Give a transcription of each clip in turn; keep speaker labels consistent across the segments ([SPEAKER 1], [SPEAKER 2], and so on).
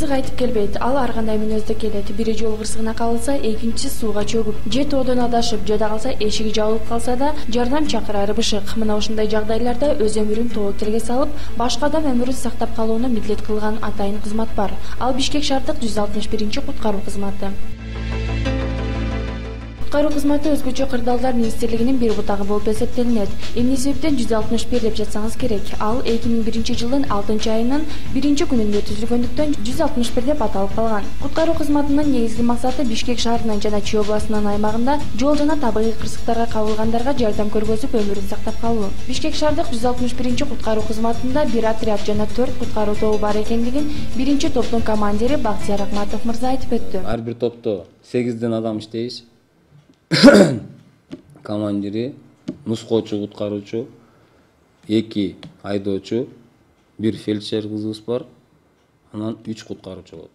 [SPEAKER 1] кырсык айтып келбейт, ал ар кандай мүнөздө келет. Бири жол кырсыгына кабылса, экинчиси сууга чөгүп, же тоодон адашып, жада калса эшиги жабылып калса да жардам чакырары бышык. Мына ушундай жагдайларда өз өмүрүн тобокелге салып, башка адам өмүрүн сактап калууну милдет кылган атайын кызмат бар. Ал Бишкек шаардык 161-куткаруу кызматы. Куткаруу кызматы өзгөчө кырдаалдар министрлигинин бир бутагы болуп эсептелинет. Эмне себептен 161 деп жатсаңыз керек. Ал 2001-жылдын 6-айынын 1-күнүндө түзүлгөндүктөн 161 деп аталып калган. Куткаруу кызматынын негизги максаты Бишкек шаарынын жана Чүй областынын аймагында жол жана табигый кырсыктарга кабылгандарга жардам көргөзүп, өмүрүн сактап калуу. Бишкек шаардык 161-куткаруу кызматында бир отряд жана 4 куткаруу тобу бар экендигин 1-топтун командири Бактияр Акматов мырза айтып өттү.
[SPEAKER 2] Ар бир топто 8 адам иштейбиз. Командири, нускоочу, куткаруучу, 2 айдоочу, 1 фельдшер кызыбыз бар, анан 3 куткаруучу болот.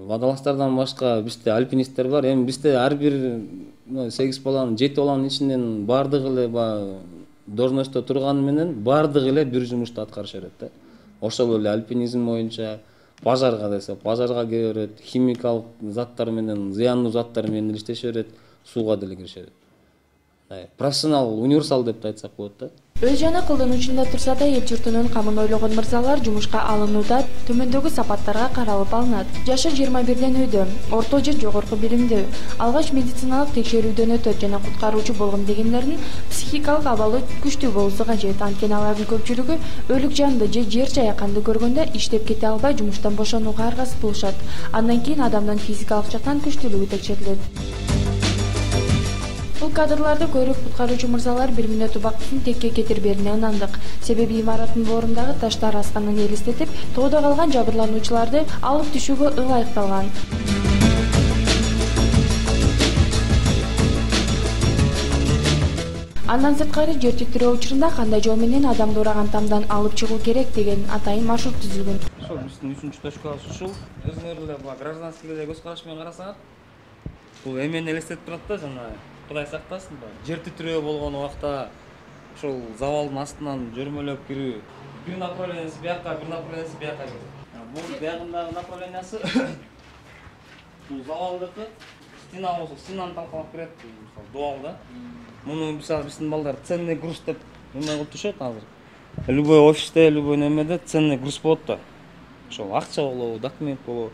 [SPEAKER 2] Водолаздардан башка бизде альпинисттер бар. Эми бизде ар бир 8 баланын, 7 баланын ичинен бардыгы эле должностто турганы менен бардыгы эле бир жумушту аткарыша берет да. Ошол эле альпинизм боюнча пожарга десе, пожарга кире берет, химикалык заттар менен, зыяндуу заттар менен иштеше берет. Сууга деле киришет. Профессионал, универсал деп айтсак болот да.
[SPEAKER 1] Өз жана колдонуучунда турса да эл журтунун камын ойлогон мырзалар жумушка алынууда төмөндөгү сапаттарга каралып алынат. Жашы 21ден үйдө, орто же жогорку билимдүү, алгач медициналык текшерүүдөн өтөт жана куткаруучу болгом дегендердин психикалык абалы күчтүү болуусу кажет. Анткени алардын көпчүлүгү өлүк жанды же жер жаяканды көргөндө иштеп кете албай жумуштан бошонууга аргасыз болушат. Андан кийин адамдын физикалык жактан күчтүүлүгү текшерилет. Бул кадрларды көрүп куткаруучу мырзалар 1 мүнөт убактысын текке кетирберине ынандык. Себеби имараттын боорундагы таштар асканын элестетип, тоодо калган жабырлануучуларды алып түшүүгө ылайыкталган. Андан сырткары жер титирөө учурунда кандай жол менен адамды ураган тамдан алып чыгуу керек деген атайын маршрут түзүлгөн.
[SPEAKER 2] Ошол биздин 3-үнчү точкабыз ушул. Өзүңөр эле гражданскийге көз караш менен карасаңар, бул эмени элестетип турат да, жана Кудай сактасын, жер титирөө болгон убакта ошол завалдын астынан жөрмөлөп кирүү. Бир направлениясы бияка, бир направлениясы бияка кирет. Бул биягындагы направлениясы бул завалдыкы, стена болсо стенаны талкалап кирет, мисалы дуал да. Муну мисалы биздин балдар ценный груз деп эме кылып түшөт азыр. Любой офисте, любой немеде ценный груз болот да. Ошол акча болобу, документ болобу.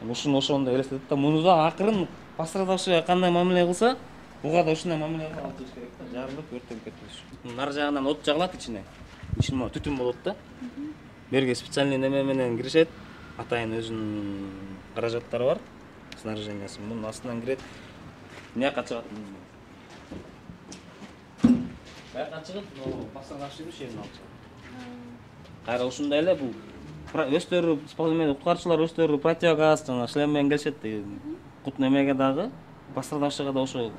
[SPEAKER 2] Ушуну ошондой элестетет да. Муну да акырын пострадавшийга кандай мамиле кылса, буга да ушундай мамиле кылып туруш керек да. Жарылып, өртөнүп кетпеш. Нар жагынан от жагылат ичине. Ичине түтүн болот да. Берге специальный неме менен киришет. Атайын өзүнүн каражаттары бар. Снаряжениясы мунун астынан кирет. Мияка чыгат. Бияка чыгып, пострадавшийдин шерин алып чыгат. Кайра ушундай эле бул өздөрү куткарчылар өздөрү противогаз жана шлем менен келишет. Кут немеге дагы пострадавшийга да ошо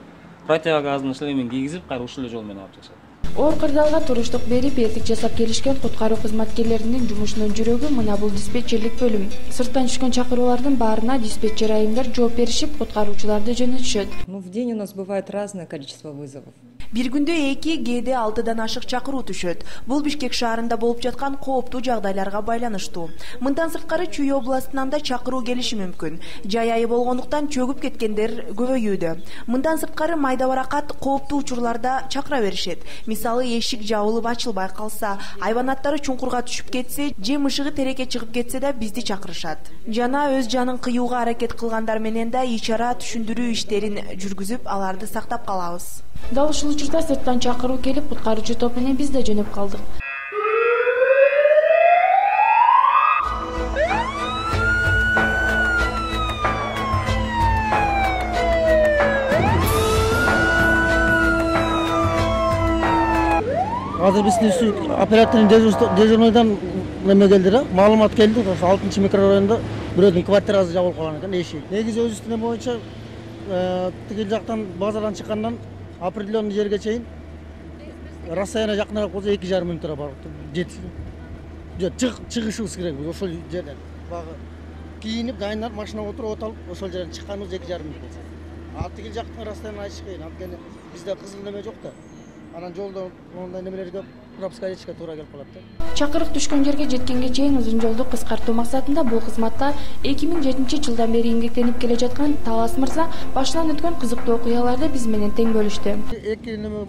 [SPEAKER 2] противогаздын шлемин кийгизип, кайра ушул жол менен алып чыгышат.
[SPEAKER 1] Оор кырдаалга туруштук берип, эртик жасап келишкен куткаруу кызматкерлеринин жумушунун жүрөгү мына бул диспетчерлик бөлүм. Сырттан түшкөн чакыруулардын баарына диспетчер айымдар жооп беришип, куткаруучуларды жөнөтүшөт.
[SPEAKER 3] В день у нас бывает разное количество вызовов.
[SPEAKER 1] Бир күндө 2, кээде 6дан ашык чакыруу түшөт. Бул Бишкек шаарында болуп жаткан кооптуу жагдайларга байланыштуу. Мындан сырткары Чүй областынан да чакыруу келиши мүмкүн. Жай айы болгондуктан чөгүп кеткендер көбөйүүдө. Мындан сырткары майда баракат кооптуу учурларда чакыра беришет. Мисалы, эшик жабылып ачылбай калса, айванаттары чуңкурга түшүп кетсе, же мышыгы тереке чыгып кетсе да бизди чакырышат. Жана өз жанын кыюуга аракет кылгандар менен да ичара түшүндүрүү иштерин жүргүзүп, аларды сактап калабыз. Дал ушул учурда сырттан чакыруу келип, куткаруучу топ менен биз да жөнөп калдык.
[SPEAKER 4] Азыр биздин оператордун дежурныйдан неме келди да, маалымат келди. Ошо 6-чы микрорайонда бирөөдүн квартирасы жабылып калган экен, эшиги. Негизи өзүбүздүн эме боюнча тигил жактан базардан чыккандан определенный жерге чейин расстояние жакыныраак болсо 2,5 мүнөттөр барып чыгышыбыз керек. Ошол жерден багы кийинип, дайындап, машинага отуруп, от алып, ошол жерден чыкканыбыз 2,5 мүнөт болсо. А тигил жактын расстояние айтыш кыйын. Анткени бизде кызыл неме жок да. Анан жолдо мондай немелер көп, пропуска алышка туура келип калат да.
[SPEAKER 1] Чакырык түшкөн жерге жеткенге чейин узун жолду кыскартуу максатында бул кызматта 2007-жылдан бери эмгектенип келе жаткан Талас мырза башынан өткөн кызыктуу окуяларды биз менен тең бөлүштү.
[SPEAKER 4] Эки неме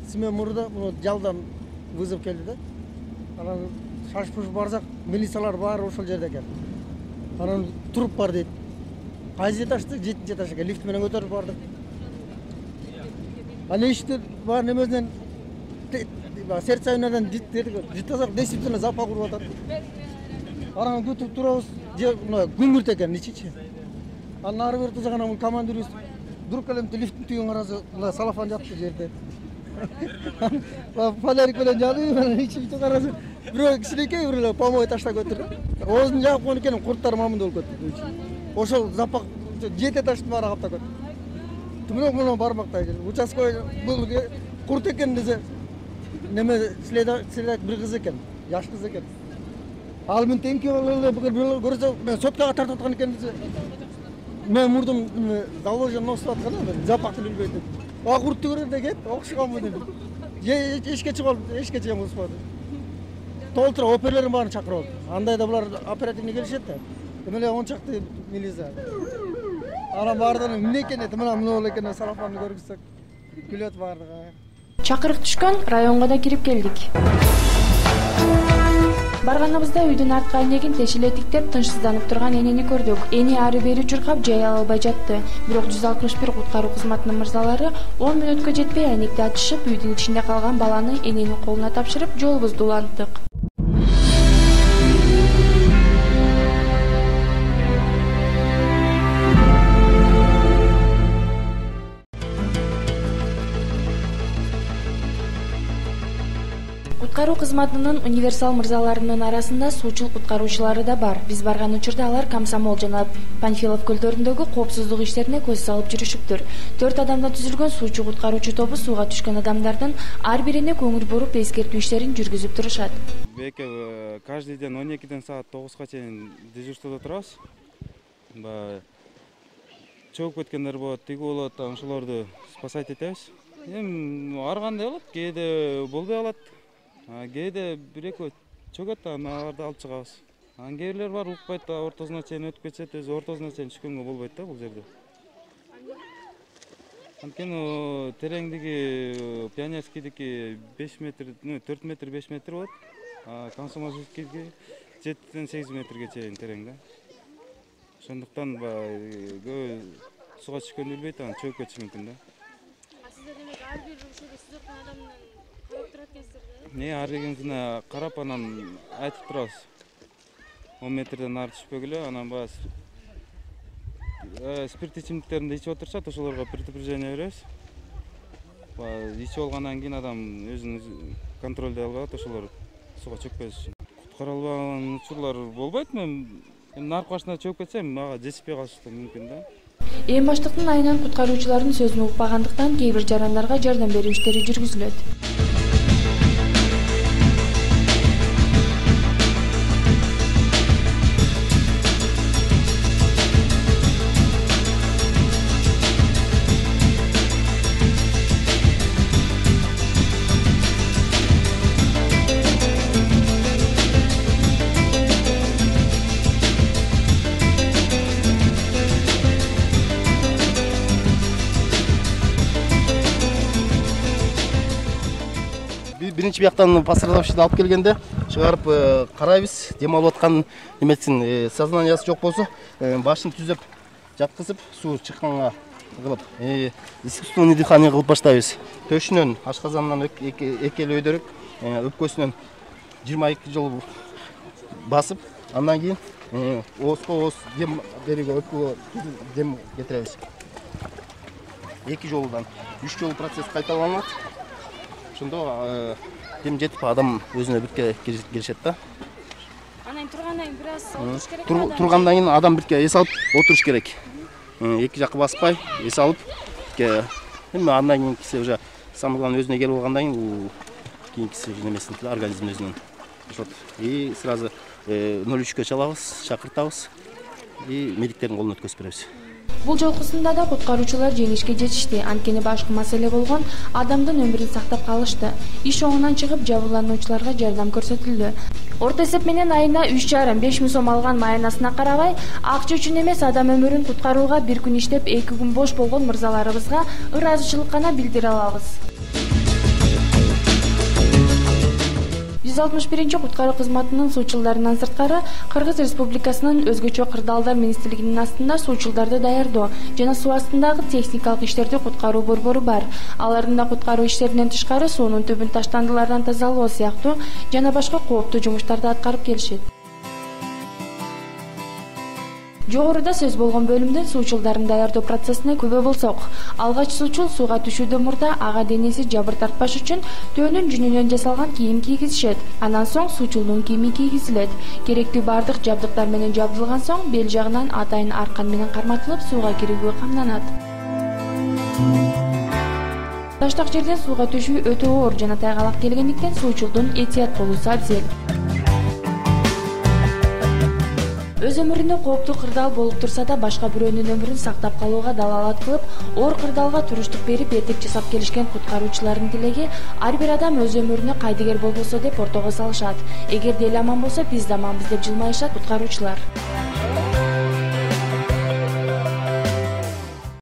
[SPEAKER 4] смен мурда жалдан вызов келди да. Анан шаш-пуш барсак, милициялар баары ошол жерде экен. Анан туруп бар дейт. Кайсы этажды? 7-нчи этаж экен. Лифт менен көтөрүп бардык. Аны ишти бар немесинен сердцевинадан житасак действительно запах уруп атат. Анан күтүп турабыз. Күңүрт экен ичичи. Анан ары бери тузаган анан командирибиз вдруг элемти лифттин түйүн караса, мына салафан жатты жерде. Фонарик менен жанып, анан ичип караса, бирөө кичинекей бир эле помой таштап көтүрдү. Оозун жаап койгон экен, курттар мамында болуп кетти. Ошол запах 7 этаждын баары каптап кетти. Тумнок бармактай жер. Участковый бул курт экен десе, неме следователь бир кыз экен, жаш кыз экен. Ал мен теңки болуп көрсө, мен соткага тартып аткан экен десе, мен мурдум заложен носуп аткан, запахты билбейт. Куртты көргөндө кет, окшуганмы дедим. Эшке чыгып, эшке чыгам успады. Толтура оперлерин баарын чакырып алды. Андайда булар оперативный келишет да. Эмеле 10 чакты милиция. Анан баардан эмне экен дейт, мына боло экен, сарафанды көргүзсөк. Күлөт баардыгы.
[SPEAKER 1] Чакырык түшкөн районго да кирип келдик. Барганыбызда үйдүн артка айнегин тешилетиктеп тынчсызданып турган энени көрдүк. Эни ары бери чуркап жай ала албай жатты. Бирок 161 куткаруу кызматынын мырзалары 10 мүнөткө жетпей айнекти ачышып, үйдүн ичинде калган баланы эненин колуна тапшырып, жолубузду уланттык. Куткаруу кызматынын универсал мырзаларынын арасында суучул куткаруучулары да бар. Биз барган учурда алар Комсомол жана Панфилов көлдөрүндөгү коопсуздук иштерине көз салып жүрүшүптүр. 4 адамдан түзүлгөн суучу куткаруучу тобу сууга түшкөн адамдардын ар бирине көңүл буруп эскертүү иштерин жүргүзүп турушат.
[SPEAKER 5] Беке каждый день 12-ден саат 9-га чейин дежурстводо турабыз. Чогуп кеткендер болот, тиги болот, ошолорду спасать этебиз. Ар кандай болот, кээде болбой калат. Кээде бир-экөө чөгөт, аларды алып чыгабыз. Кээ бирлер бар укпайт, ортосуна чейин өтүп кетет, өзү ортосуна чейин түшкөнгө болбойт да бул жерде. Анткени тереңдиги Пионерскийдики 5 метр, 4 метр, 5 метр болот. Комсомольскийдики 7-ден 8 метрге чейин терең да. Ошондуктан көбү сууга түшкөндү билбейт, анан чөгүп кетиши мүмкүн да.
[SPEAKER 6] Сиздер демек ар бир ушул сиздер адамдан карап турат экенсиздер да?
[SPEAKER 5] Ар биринесине карап анан айтып турабыз. 10 метрден ары түшпөгүлө, анан спирт ичимдиктеринди ичип отурушат, ошолорго предупреждение беребиз. Ичип алгандан кийин адам өзүн контролдой албайт, ошолор сууга чөкпөш үчүн. Куткара албаган учурлар болбойт. Мен наркы башына чөгүп кетсем, мага жетишпей калышы да мүмкүн да.
[SPEAKER 1] Эң баштыктын айынан куткаруучулардын сөзүн укпагандыктан кээ бир жарандарга жардам берүү иштери жүргүзүлөт.
[SPEAKER 7] Биринчи бияктан пострадавшийди алып келгенде чыгарып карайбыз, дем алып аткан немесин сознаниясы жок болсо, башын түзөп жаткызып, суу чыкканга кылып, искусственный дыхание кылып баштайбыз. Төшүнөн, ашказанынан эки эле өйдөрүк, өпкөсүнөн 22 жол басып, андан кийин ооз дем берүүгө, өпкөгө дем кетиребиз. 2 жолудан 3 жолу процесс кайталанат. Ошондо дем жетип адам өзүнө бирке келишет да.
[SPEAKER 6] Анан тургандан кийин бир аз отуруш керек.
[SPEAKER 7] Тургандан кийин адам бирке эс алып отуруш керек. Эки жакка баспай эс алып, андан кийин кисе уже самый главный өзүнө келип алгандан кийин кийинкиси немесин организм өзүнүн ошот. Сразу 03-кө чалабыз, чакыртабыз и медиктердин колуна өткөзүп беребиз.
[SPEAKER 8] Бул жолкусунда да куткаруучулар жеңишке жетишти. Анткени башкы маселе болгон адамдын өмүрүн сактап калышты. Иш оңунан чыгып, жабырлануучуларга жардам көрсөтүлдү. Орто эсеп менен айына 3,5 миң сом алган маянасына карабай, акча үчүн эмес, адам өмүрүн куткарууга бир күн иштеп, 2 күн бош болгон мырзаларыбызга ыраазычылык гана билдире алабыз. 161 куткаруу кызматынын суучулдарынан сырткары Кыргыз Республикасынын өзгөчө кырдаалдар министрлигинин астында суучулдарды даярдоо жана суу астындагы техникалык иштерди куткаруу борбору бар. Алардын да куткаруу иштеринен тышкары суунун түбүн таштандылардан тазалоо сыяктуу жана башка кооптуу жумуштарды аткарып келишет. Жогоруда сөз болгон бөлүмдүн суучулдарын даярдоо процессине күбө болсок, алгач суучул сууга түшүүдөн мурда ага денеси жабыр тартпаш үчүн төөнүн жүнүнөн жасалган кийим кийгизишет. Андан соң суучулдун кийими кийгизилет. Керектүү бардык жабдыктар менен жабдылган соң бел жагынан атайын аркан менен карматылып сууга кирүүгө камданат. Таштак жерден сууга түшүү өтө оор жана тайгалак келгендиктен суучулдун этият болуусу абзел. Өз өмүрүнө кооптуу кырдаал болуп турса да башка бирөөнүн өмүрүн сактап калууга далаалат кылып, оор кырдаалга туруштук берип этек жасап келишкен куткаруучулардын тилеги ар бир адам өз өмүрүнө кайдыгер болбосо деп ортого салышат. Эгерде эл аман болсо, биз да аманбыз деп жылмайышат куткаруучулар.